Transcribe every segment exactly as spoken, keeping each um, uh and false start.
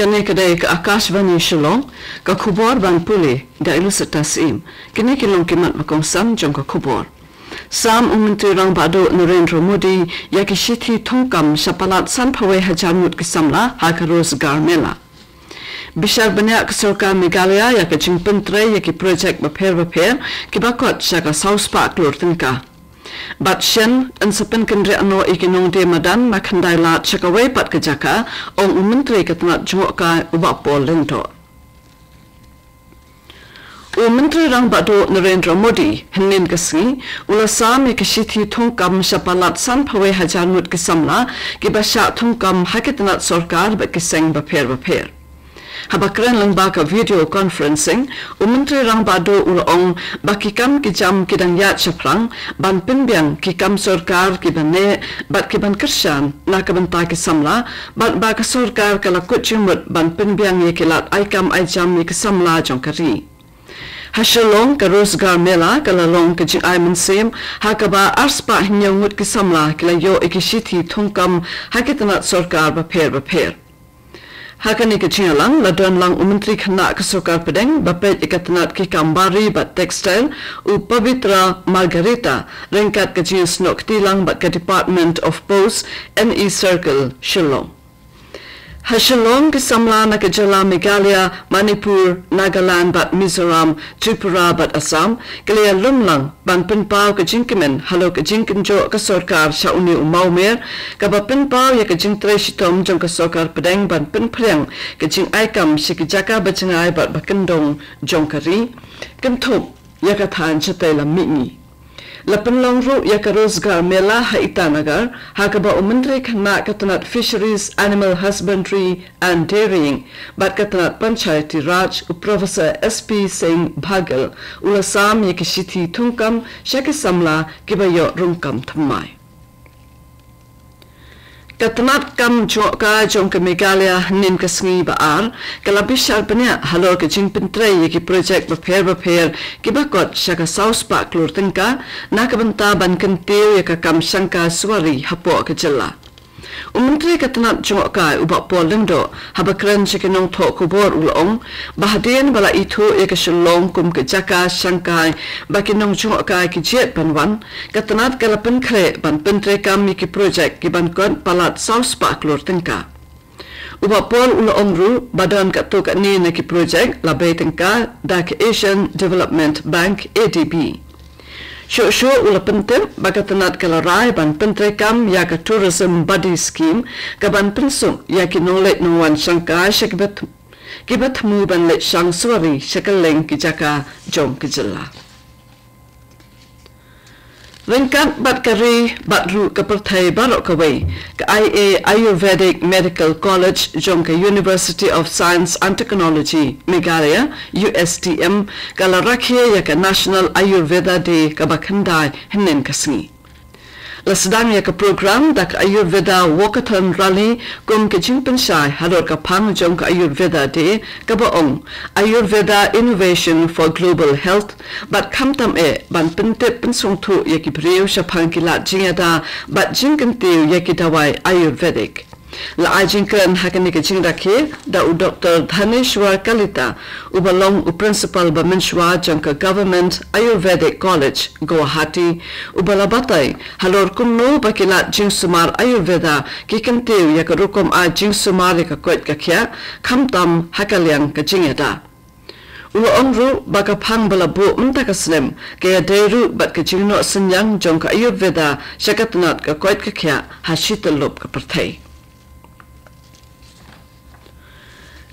Kane ka dei ka Akashvani Shillong, ka khubor ban pule da Ilusita Syiem. Kine ki long ki mat ba kongsan jong ka khubor. Sam u Myntri Rangbah Duh Narendra Modi ïa ki shithi thungkam sha palat san phew hajar ngut ki samla ha ka Rozgar Mela. Bishar bniah ka sorkar Meghalaya ïa ka jingpyntrei ïa ki projek bapher bapher kiba kot sha ka saw spah klur tyngka. Bad shen yn sa pynkynriah noh ïa ki nongdie madan na khyndai lad sha kawei pat ka jaka, ong u Myntri ka tnat jngohkai u Bah Paul Lyngdoh. U Myntri Rangbah Duh Narendra Modi hynnin ka sngi u la sam ïa ka shithi thungkam sha palat san phew hajar ngut ki samla kiba shah thungkam ha ki tnat sorkar bad ki seng bapher bapher. Haba kren lyngba ka video conferencing, u Myntri Rangbah Duh u la ong ba ki kam ki jam ki dang ïaid shaphrang ban pynbiang ki kam sorkar kiba neh bad kiban kyrshan na ka bynta ki samla, bad ba ka sorkar ka la kut jingmut ban pynbiang ïa ki lad ai kam ai jam ïa ki samla jong ka ri. Ha Shillong, ka Rozgar Mela ka la long ka jingai mynsiem ha kaba ar spah hynñiew ngut ki samla ki la ïoh ïa ki shithi thungkam ha ki tnat sorkar bapher bapher. Ha kane ka jingïalang la don lang u Myntri Khynnah ka Sorkar Pdeng ba peit ïa ka tnat ki kam bari bad textile, u Pabitra Margherita, ryngkat ka jingïasnoh kti lang bad ka Department of Post, N E Circle, Shillong. Ha Shillong, ki samla na ka jylla Meghalaya, Manipur, Nagaland bad Mizoram, Tripura bad Assam ki la ïalum lang ban pynpaw ka jingkmen halor ka jingkynjoh ka sorkar sha une u mawmer, kaba pynpaw ïa ka jingtrei shitom jong ka Sorkar Pdeng ban pynphriang ka jingai kam sha ki jaka ba jngai bad ba kyndong jong ka ri, kynthup ïa ka thaiñ shatei lam mihngi. La pynlong ruh ïa ka Rozgar Mela ha Itanagar, ha kaba u Myntri Khynnah ka tnat Fisheries, Animal Husbandry and Dairying bad ka tnat Panchayati Raj, u Professor S P Singh Baghel, u la sam ïa ki shithi thungkam sha ki samla kiba ïoh rung kam thymmai. Ka tnat kam jngohkai jong ka Meghalaya hynnin ka sngi ba ar ka la bishar bniah halor ka jingpyntrei ïa ki projek bapher bapher kiba kot sha ka saw spah klur tyngka, na ka bynta ban kyntiew ïa ka kam shangkai suwari hapoh ka jylla. U Myntri ka tnat jngohkai u Bah Paul Lyngdoh, haba kren sha ki nongthoh khubor u la ong ba hadien ba la ithuh ïa ka Shillong kum ka jaka shangkai ba ki nongjngohkai ki jied ban wan, ka tnat ka la pynkhreh ban pyntreikam ïa ki projek kiban kot palat saw spah klur tyngka. U Bah Paul u la ong ruh ba don katto katne na ki projek la bei tyngka da ka Asian Development Bank, A D B. Shuh shuh u la pyntip ba ka tnat ka la rai ban pyntreikam ïa ka Tourism Buddy Scheme, kaban pynsuk ïa ki nongleit nongwan shangkai sha kiba th-, kiba thmu ban leit shang suwari sha kylleng ki jaka jong ka jylla. Ryngkat bad ka ri bad ruh ka pyrthei baroh kawei, ka I A Ayurvedic Medical College jong ka University of Science and Technology Meghalaya, U S T M, ka la rakhe ïa ka National Ayurveda Day kaba khyndai hynnin ka sngi. La sdang ïa ka program da ka Ayurveda Walkathon Rally kum ka jingpynshai halor ka phang jong ka Ayurveda Day, kaba ong Ayurveda Innovation for Global Health, bad khamtam eh ban pyntip pynsngewthuh ïa ki briew shaphang ki lad jingïada bad jingkyntiew ïa ki dawai Ayurvedic. La ai jingkren ha kane ka jingrakhe da u Doktor Dhaneshwar Kalita, uba long u Principal ba mynshuwa jong ka Government Ayurvedic College, Guwahati, uba la batai halor kumno ba ki lad jingsumar Ayurveda ki kyntiew ïa ka rukom ai jingsumar ïa ka koit ka khiah, khamtam ha ka liang ka jingïada. U la ong ruh ba ka phang ba la buh mynta ka snem ka ïadei ruh bad ka jingnoh synñiang jong ka Ayurveda sha ka tnat ka koit ka khiah ha shi tyllup ka pyrthei.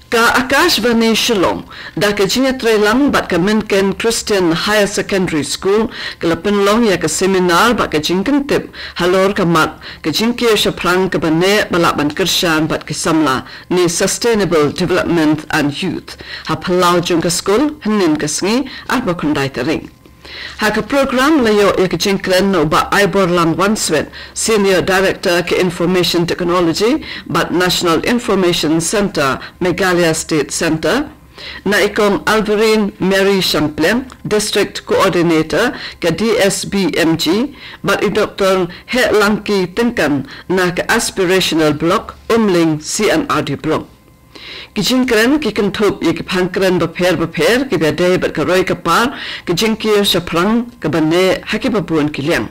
Ka Akashvani Shillong, da ka jingïatreilang bad ka Mynken Christian Higher Secondary School, ka la pynlong ïa ka seminar bad ka jingkyntip halor ka mat ka jingkiew shaphrang kaba neh ba lah ban kyrshan bad ki samla, ne Sustainable Development and Youth, ha phyllaw jong ka skul hynnin ka sngi, arphew khyndai tarik. Ha ka program la ïoh ïa ka jingkren na u Bah Aiborlang Wanswet, Senior Director ka Information Technology bad National Information Centre, Meghalaya State Centre, na i Kong Alverine Mary Shangpliang, District Coordinator ka D S B M G, bad i Doktor Hehlangki Tyngkan na ka Aspirational Block, Umling C and R D Block. Ki jingkren ki kynthup ïa ki phang kren bapher bapher kiba dei bad ka roi ka par, ki jingkiew shaphrang kaba neh ha kiba bun ki liang.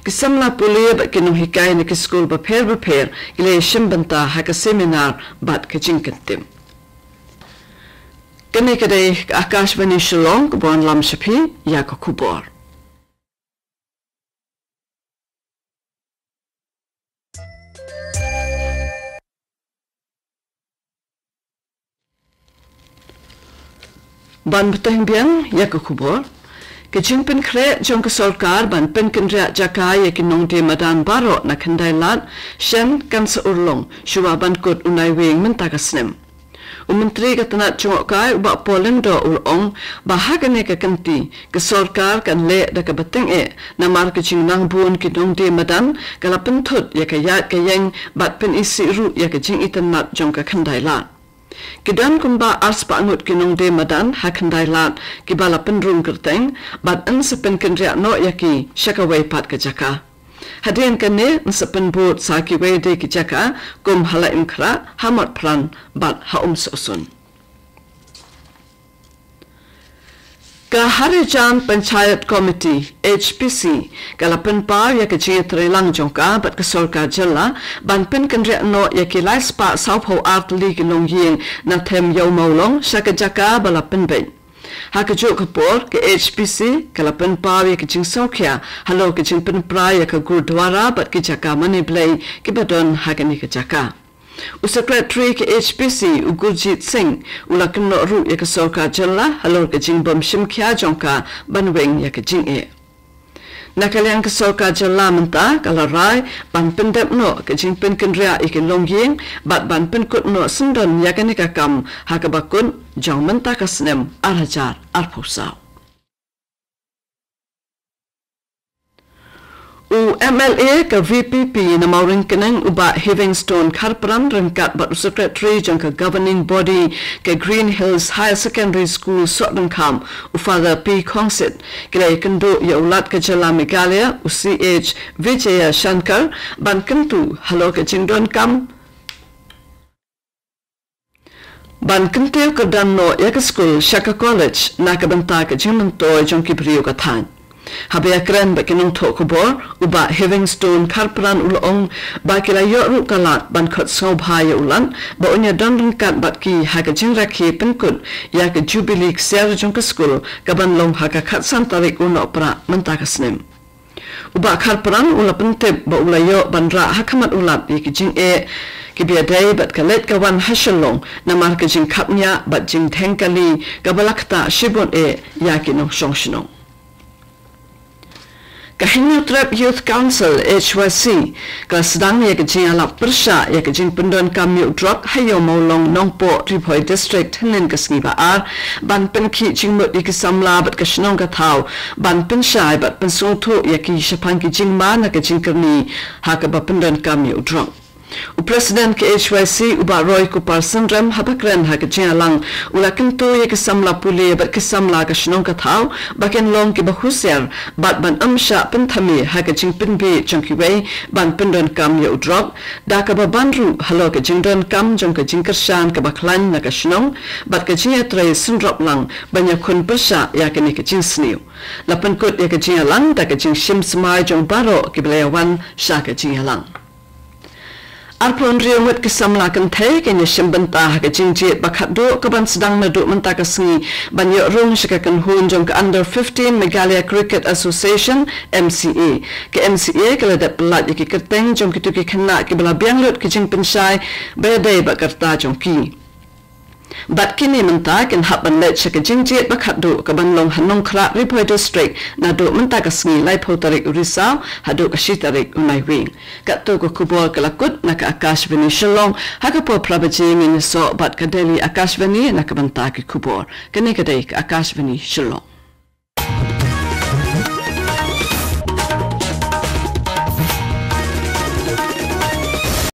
Ki samla pule bad ki nonghikai na ki skul bapher bapher ki la ïashim bynta ha ka seminar bad ka jingkyntip. Kane ka dei ka Akashvani Shillong kaba wanlam sha phi ïa ka khubor. Ban bteng biang ïa ka khubor. Ka jingpynkhreh jong ka sorkar ban pynkynriah jaka ïa ki nongdie madan baroh na Khyndai Lad, shen kan sa urlong shuwa ban kut u Naiwieng mynta ka snem. U Myntri ka tnat jngohkai u Bah Paul Lyngdoh u la ong ba ha kane ka kynti ka sorkar kan leh da kaba tyngeh namar ka jingnang bun ki nongdie madan ka la pynthut ïa ka ïaid ka ïeng bad pynisih ruh ïa ka jingitynnad jong ka Khyndai Lad. Ki don kumba arspah ngut ki nongdie madan ha Khyndai Lad kiba la pynrung kyrteng bad yn sa pynkynriah noh ïa ki sha kawei pat ka jaka. Hadien kane yn sa pynbud sa kiwei de ki jaka kum ha Laitumkhrah, ha Motphran bad ha Umsohsun. Ka Harijan Panchayat Committee, H P C, ka la pynpaw ïa ka jingïatreilang jong ka bad ka sorkar jylla ban pynkynriah noh ïa ki laispah sawphew ar tylli ki longïing na them Ïew Mawlong sha ka jaka ba la pynbeit. Ha kajuh ka por ka H P C ka la pynpaw ïa ka jingsngewkhia halor ka jingpynpra ïa ka Gurdwara bad ki jaka mane Blei kiba don ha kane ka jaka. U Secretary ka H P C u Gurjit Singh u la kynnoh ruh ïa ka sorkar jylla halor ka jingbym shim khia jong ka ban weng ïa ka jingeh. Na ka liang ka sorkar jylla mynta ka la rai ban pyndep noh ka jingpynkynriah ïa ki longïing bad ban pynkut noh syndon ïa kane ka kam ha kaba kut jong mynta ka snem ar hajar arphew saw. U M L A ka V P P na Mawryngkneng u Bah Heavingstone Kharpran ryngkat bad u Secretary jong ka Governing Body ka Green Hills Higher Secondary School Sohryngkham u Father P Khongsit ki la ïakynduh ïa u Lat ka jylla Meghalaya u C H Vijayashankar ban kyntu halor ka jingdonkam ban kyntiew kyrdan noh ïa ka skul sha ka college na ka bynta ka jingmyntoi jong ki briew ka thaiñ. Haba ïakren bad ki nongthoh khubor u Bah Heavingstone Kharpran u la ong ba ki la ïoh ruh ka lad ban khot sngewbha ïa u Lat ba un ïadon ryngkat bad ki ha ka jingrakhe pynkut ïa ka jubili ksiar jong ka skul kaban long ha ka khatsan tarik u Nohprah mynta ka snem. U Bah Kharpran u la pyntip ba u la ïoh ban rah ha khmat u Lat ïa ki jingeh kiba ïadei bad ka leit ka wan ha Shillong namar ka jingkhapngiah bad jingdheng kali kaba la ktah shibun eh ïa ki nongshong shnong. Ka Hynñiewtrep Youth Council, H Y C, ka la sdang ïa ka jingïalap pyrshah ïa ka jingpyndonkam ïa u drok ha Ïew Mawlong Nongpoh, Ri Bhoi District hynnin ka sngi ba ar ban pynkhih jingmut ïa ki samla bad ka shnong ka thaw ban pynshai bad pynsngewthuh ïa ki shaphang ki jingma na ka jingkyrni ha kaba pyndonkam ïa u drok. U President ka H Y C u Bah Roy Kupar Synrem haba kren ha ka jingïalang u la kyntu ïa ki samla pule bad ki samla ka shnong ka thaw ba kin long kiba husiar bad ban ym shah pynthame ha ka jingpynbieit jong kiwei ban pyndonkam ïa u drok da kaba ban ruh halor ka jingdonkam jong ka jingkyrshan kaba khlaiñ na ka shnong bad ka jingïatrei synrop lang ban ïakhun pyrshah ïa kane ka jingsniew. La pynkut ïa ka jingïalang da ka jingshim smai jong baroh kiba la ïawan sha ka jingïalang. Arphew hynriew ngut ki samla kynthei kin ïashim bynta ha ka jingjied ba khatduh kaban sdang naduh mynta ka sngi ban ïoh rung sha ka kynhun jong ka Under fifteen Meghalaya Cricket Association, M C A. Ka M C A ka la dep pyllait ïa ki kyrteng jong kito ki khynnah kiba la biang lut ki jingpynshai ba ïadei bad ka rta jong ki. Bad kine mynta kin hap ban leit sha ka jingjied ba khatduh kaban long ha Nongkhrah, Ri Bhoi District naduh mynta ka sngi laiphew tarik u Risaw haduh ka shi tarik u Naiwieng. Katto ka khubor ka la kut na ka Akashvani Shillong, ha ka por phra baje ngin ïasoh bad ka Delhi Akashvani na ka bynta ki khubor. Kane ka dei ka Akashvani Shillong.